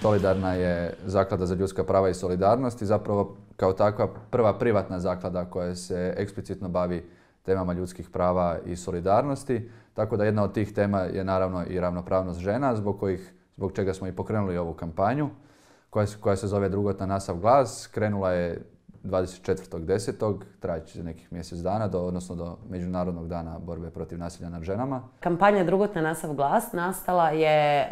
Solidarna je zaklada za ljudska prava i solidarnost i zapravo kao takva prva privatna zaklada koja se eksplicitno bavi temama ljudskih prava i solidarnosti. Tako da jedna od tih tema je naravno i ravnopravnost žena, zbog čega smo i pokrenuli ovu kampanju koja se zove Drugotna na sav glas. Krenula je 24.10. trajaće nekih mjesec dana, odnosno do Međunarodnog dana borbe protiv nasilja nad ženama. Kampanja Drugotna na sav glas nastala je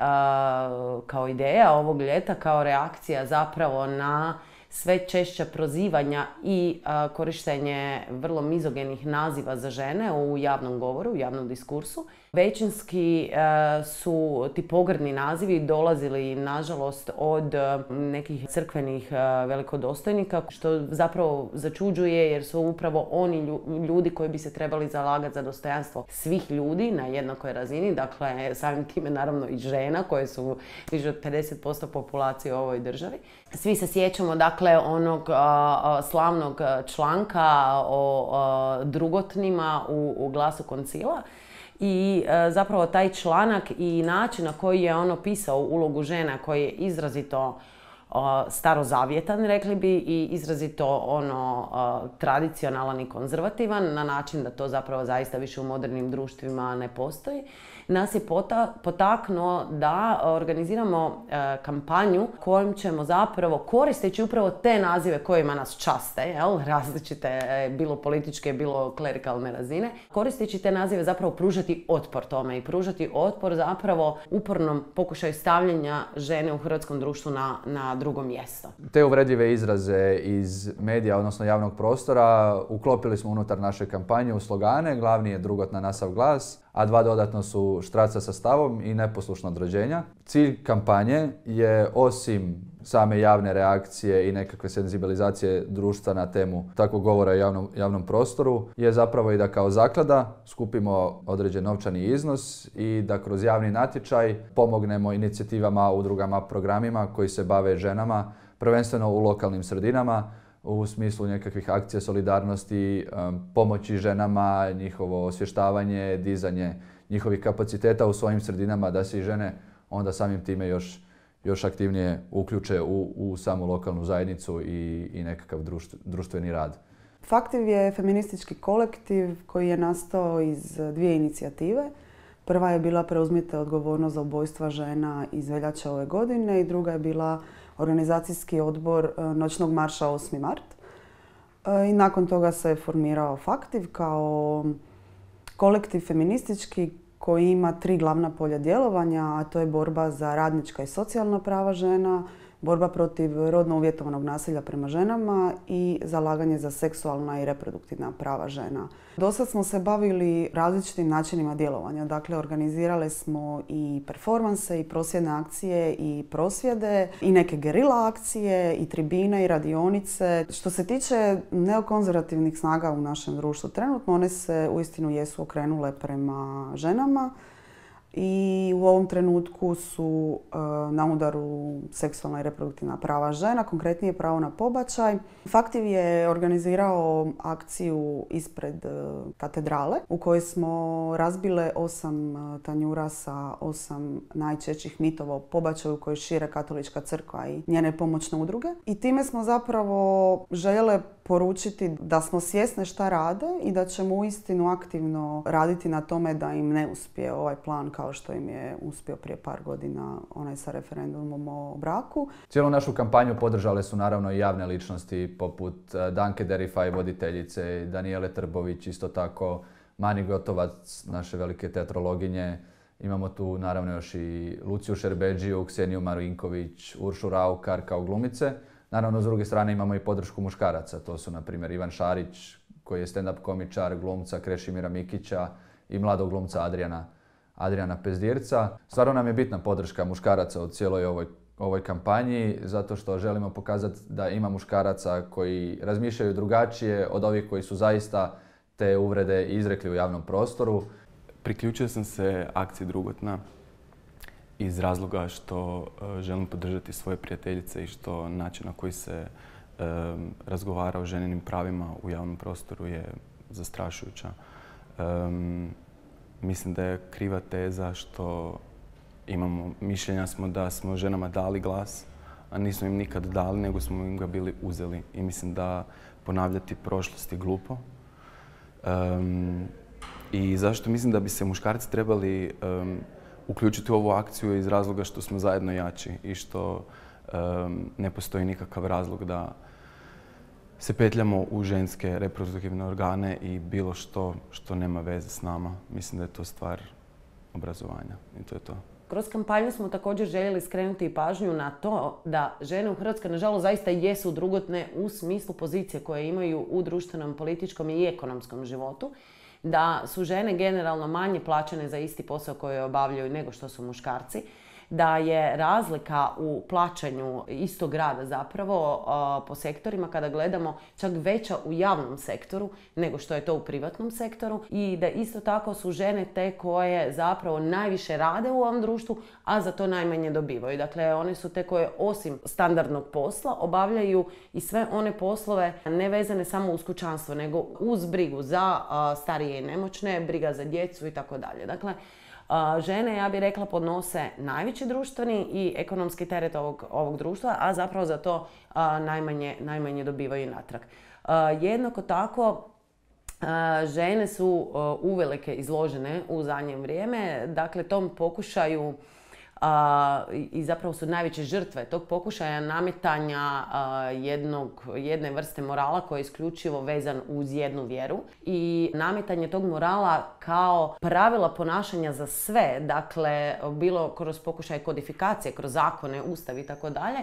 kao ideja ovog ljeta, kao reakcija zapravo na sve češća prozivanja i korištenje vrlo mizogenih naziva za žene u javnom govoru, u javnom diskursu. Većinski su ti pogrdni nazivi dolazili, nažalost, od nekih crkvenih velikodostojnika, što zapravo začuđuje jer su upravo oni ljudi koji bi se trebali zalagati za dostojanstvo svih ljudi na jednakoj razini, dakle samim time naravno i žena koje su više od 50% populacije u ovoj državi. Svi se sjećamo dakle onog slavnog članka o drugotnima u Glasu Koncila. I zapravo taj članak i način na koji je on opisao ulogu žena koji je izrazito starozavjetan, rekli bi, i izrazito tradicionalan i konzervativan, na način da to zapravo zaista više u modernim društvima ne postoji, nas je potaknuo da organiziramo kampanju kojom ćemo zapravo, koristeći upravo te nazive kojima nas časte, različite, bilo političke, bilo klerikalne razine, koristeći te nazive zapravo pružati otpor tome i pružati otpor zapravo upornom pokušaju stavljanja žene u hrvatskom društvu na drugo mjesto. Te uvredljive izraze iz medija, odnosno javnog prostora, uklopili smo unutar naše kampanje u slogane. Glavni je Drugotna na sav glas, a dva dodatno su Štraca sa stavom i Neposlušno od rođenja. Cilj kampanje je, osim same javne reakcije i nekakve senzibilizacije društva na temu takvog govora u javnom prostoru, je zapravo i da kao zaklada skupimo određen novčani iznos i da kroz javni natječaj pomognemo inicijativama, udrugama, programima koji se bave ženama, prvenstveno u lokalnim sredinama, u smislu nekakvih akcija solidarnosti, pomoći ženama, njihovo osvještavanje, dizanje njihovih kapaciteta u svojim sredinama, da se i žene onda samim time još aktivnije uključe u samu lokalnu zajednicu i nekakav društveni rad. Faktiv je feministički kolektiv koji je nastao iz dvije inicijative. Prva je bila Preuzmite odgovornost za ubojstva žena iz veljače ove godine i druga je bila organizacijski odbor Noćnog marša 8. mart. I nakon toga se formirao Faktiv kao kolektiv feministički koji ima 3 glavna polja djelovanja, a to je borba za radnička i socijalna prava žena, borba protiv rodno uvjetovanog nasilja prema ženama i zalaganje za seksualna i reproduktivna prava žena. Dosad smo se bavili različitim načinima djelovanja. Dakle, organizirali smo i performanse, i prosvjedne akcije, i prosvjede, i neke gerila akcije, i tribine, i radionice. Što se tiče neokonzervativnih snaga u našem društvu, trenutno one se uistinu jesu okrenule prema ženama. I u ovom trenutku su na udaru seksualna i reproduktivna prava žena, konkretnije pravo na pobačaj. Faktiv je organizirao akciju ispred katedrale u kojoj smo razbile 8 tanjura sa 8 najčešćih mitova o pobačaju koje šire Katolička crkva i njene pomoćne udruge. I time smo zapravo željele poručiti da smo svjesne šta rade i da ćemo uistinu aktivno raditi na tome da im ne uspije ovaj plan kao što im je uspio prije par godina onaj sa referendumom o braku. Cijelu našu kampanju podržale su naravno i javne ličnosti poput Danke Derifaj, voditeljice, Danijele Trbović, isto tako Mani Gotovac, naše velike teatrologinje. Imamo tu naravno još i Luciju Šerbedžiju, Kseniju Marinković, Uršu Raukar kao glumice. Naravno, s druge strane imamo i podršku muškaraca. To su, na primjer, Ivan Šarić, koji je stand-up komičar, glumca Krešimira Mikića i mladog glumca Adriana Pezdirca. Stvarno nam je bitna podrška muškaraca u cijeloj ovoj kampanji, zato što želimo pokazati da ima muškaraca koji razmišljaju drugačije od ovih koji su zaista te uvrede izrekli u javnom prostoru. Priključio sam se akciji Drugotna iz razloga što želim podržati svoje prijateljice i što način na koji se razgovara o ženinim pravima u javnom prostoru je zastrašujuća. Mislim da je kriva teza što Mišljenja smo da smo ženama dali glas, a nismo im nikad dali, nego smo im ga bili uzeli. I mislim da ponavljati prošlost je glupo. I zašto mislim da bi se muškarci trebali uključiti u ovu akciju iz razloga što smo zajedno jači i što ne postoji nikakav razlog da se petljamo u ženske reproduktivne organe i bilo što nema veze s nama. Mislim da je to stvar obrazovanja i to je to. Kroz kampanju smo također željeli skrenuti pažnju na to da žene u Hrvatskoj nažalost zaista jesu drugotne u smislu pozicije koje imaju u društvenom, političkom i ekonomskom životu. Da su žene generalno manje plaćene za isti posao koji obavljaju nego što su muškarci. Da je razlika u plaćanju istog rada zapravo po sektorima kada gledamo čak veća u javnom sektoru nego što je to u privatnom sektoru i da isto tako su žene te koje zapravo najviše rade u ovom društvu, a za to najmanje dobivaju. Dakle, one su te koje osim standardnog posla obavljaju i sve one poslove ne vezane samo uz kućanstvo, nego uz brigu za starije i nemoćne, briga za djecu i tako dalje. Dakle, žene, ja bih rekla, podnose najveći društveni i ekonomski teret ovog društva, a zapravo za to najmanje dobivaju natrag. Jednako tako, žene su uvelike izložene u zadnje vrijeme, dakle tom pokušaju i zapravo su najveće žrtve tog pokušaja nametanja jedne vrste morala koji je isključivo vezan uz jednu vjeru i nametanje tog morala kao pravila ponašanja za sve, dakle bilo kroz pokušaj kodifikacije, kroz zakone, ustav i tako dalje,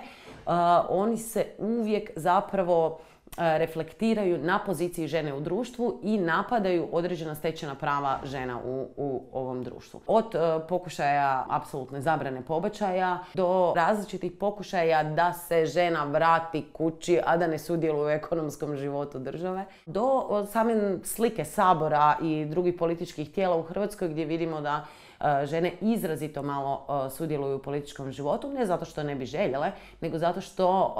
oni se uvijek zapravo reflektiraju na poziciji žene u društvu i napadaju određena stečena prava žena u ovom društvu. Od pokušaja apsolutne zabrane pobačaja do različitih pokušaja da se žena vrati kući, a da ne sudjeluje u ekonomskom životu države, do same slike Sabora i drugih političkih tijela u Hrvatskoj gdje vidimo da žene izrazito malo sudjeluju u političkom životu, ne zato što ne bi željele, nego zato što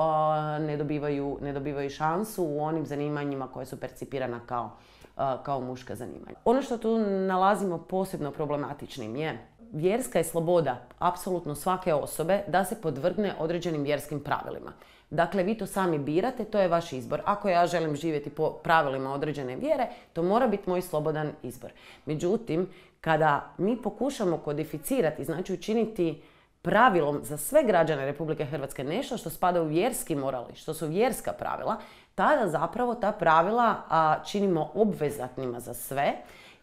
ne dobivaju šansu u onim zanimanjima koje su percipirana kao muška zanimanja. Ono što tu nalazimo posebno problematičnim je vjerska je sloboda apsolutno svake osobe da se podvrgne određenim vjerskim pravilima. Dakle, vi to sami birate, to je vaš izbor. Ako ja želim živjeti po pravilima određene vjere, to mora biti moj slobodan izbor. Međutim, kada mi pokušamo kodificirati, znači učiniti pravilom za sve građane Republike Hrvatske nešto što spada u vjerski moral, što su vjerska pravila, tada zapravo ta pravila činimo obvezatnima za sve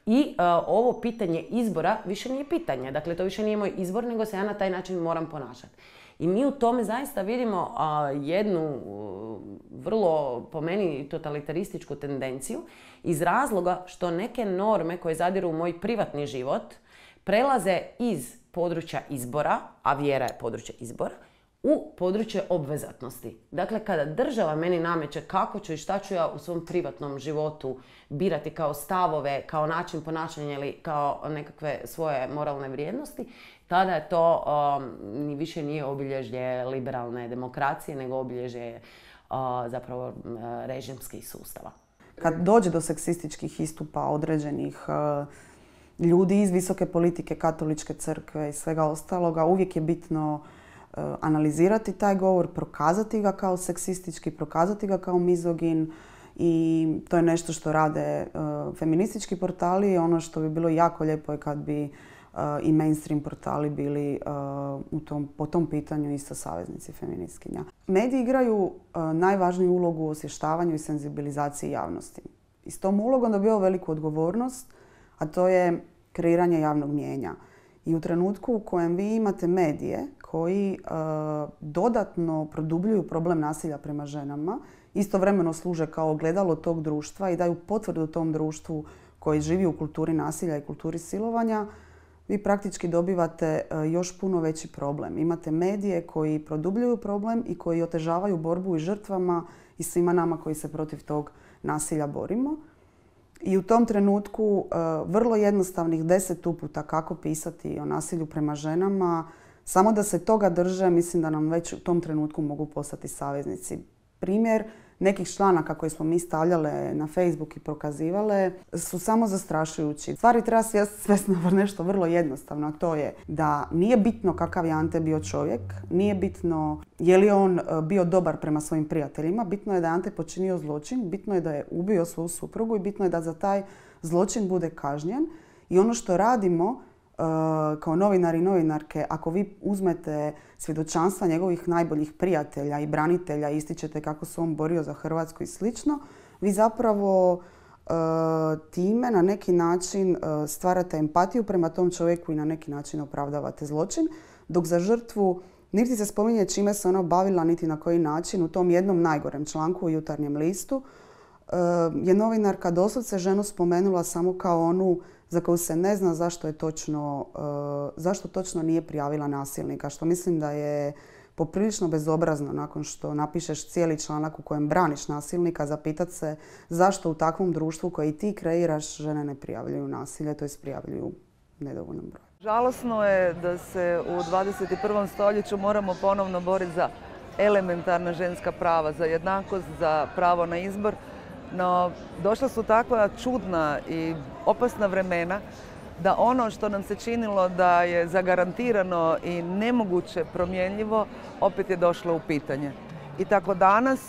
i ovo pitanje izbora više nije pitanje. Dakle, to više nije moj izbor, nego se ja na taj način moram ponašati. I mi u tome zaista vidimo jednu vrlo, po meni, totalitarističku tendenciju iz razloga što neke norme koje zadiru u moj privatni život prelaze iz područja izbora, a vjera je područje izbora, u područje obvezatnosti. Dakle, kada država meni nameće kako ću i šta ću ja u svom privatnom životu birati kao stavove, kao način ponašanja ili kao nekakve svoje moralne vrijednosti, tada je to više nije obilježje liberalne demokracije, nego obilježje zapravo režimskih sustava. Kad dođe do seksističkih istupa određenih ljudi iz visoke politike, katoličke crkve i svega ostaloga, uvijek je bitno analizirati taj govor, prokazati ga kao seksistički, prokazati ga kao mizogin i to je nešto što rade feministički portali. Ono što bi bilo jako lijepo je kad bi i mainstream portali bili po tom pitanju isto saveznici feministkinja. Mediji igraju najvažniju ulogu u osvještavanju i senzibilizaciji javnosti. I s tom ulogom dobivaju veliku odgovornost, a to je kreiranje javnog mnijenja. I u trenutku u kojem vi imate medije koji dodatno produbljuju problem nasilja prema ženama, istovremeno služe kao ogledalo tog društva i daju potvrdu tom društvu koji živi u kulturi nasilja i kulturi silovanja, vi praktički dobivate još puno veći problem. Imate medije koji produbljuju problem i koji otežavaju borbu i žrtvama i svima nama koji se protiv tog nasilja borimo. I u tom trenutku vrlo jednostavnih 10 uputa kako pisati o nasilju prema ženama, samo da se toga drže, mislim da nam već u tom trenutku mogu postati saveznici. Primjer, nekih članaka koje smo mi stavljale na Facebook i prokazivale su samo zastrašujući. Stvari treba svesti na nešto vrlo jednostavno, a to je da nije bitno kakav je Ante bio čovjek, nije bitno je li on bio dobar prema svojim prijateljima, bitno je da je Ante počinio zločin, bitno je da je ubio svoju suprugu i bitno je da za taj zločin bude kažnjen. I ono što radimo kao novinari i novinarke, ako vi uzmete svjedočanstva njegovih najboljih prijatelja i branitelja i ističete kako se on borio za Hrvatsku i slično, vi zapravo time na neki način stvarate empatiju prema tom čovjeku i na neki način opravdavate zločin, dok za žrtvu niti se spominje čime se ona bavila, niti na koji način. U tom jednom najgorem članku u Jutarnjem listu je novinarka doslovce ženu spomenula samo kao onu za koju se ne zna zašto točno nije prijavila nasilnika, što mislim da je poprilično bezobrazno nakon što napišeš cijeli članak u kojem braniš nasilnika, zapitati se zašto u takvom društvu koje ti kreiraš žene ne prijavljuju nasilje, to jest prijavljuju nedovoljnom broju. Žalosno je da se u 21. stoljeću moramo ponovno boriti za elementarna ženska prava, za jednakost, za pravo na izbor. No, došla su takva čudna i opasna vremena da ono što nam se činilo da je zagarantirano i nemoguće promjenjivo, opet je došlo u pitanje. I tako danas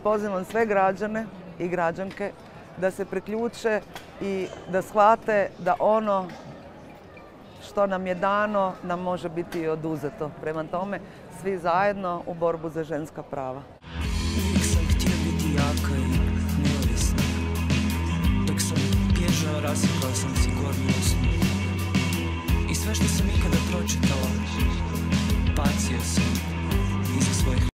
pozivam sve građane i građanke da se priključe i da shvate da ono što nam je dano nam može biti i oduzeto. Prema tome, svi zajedno u borbu za ženska prava.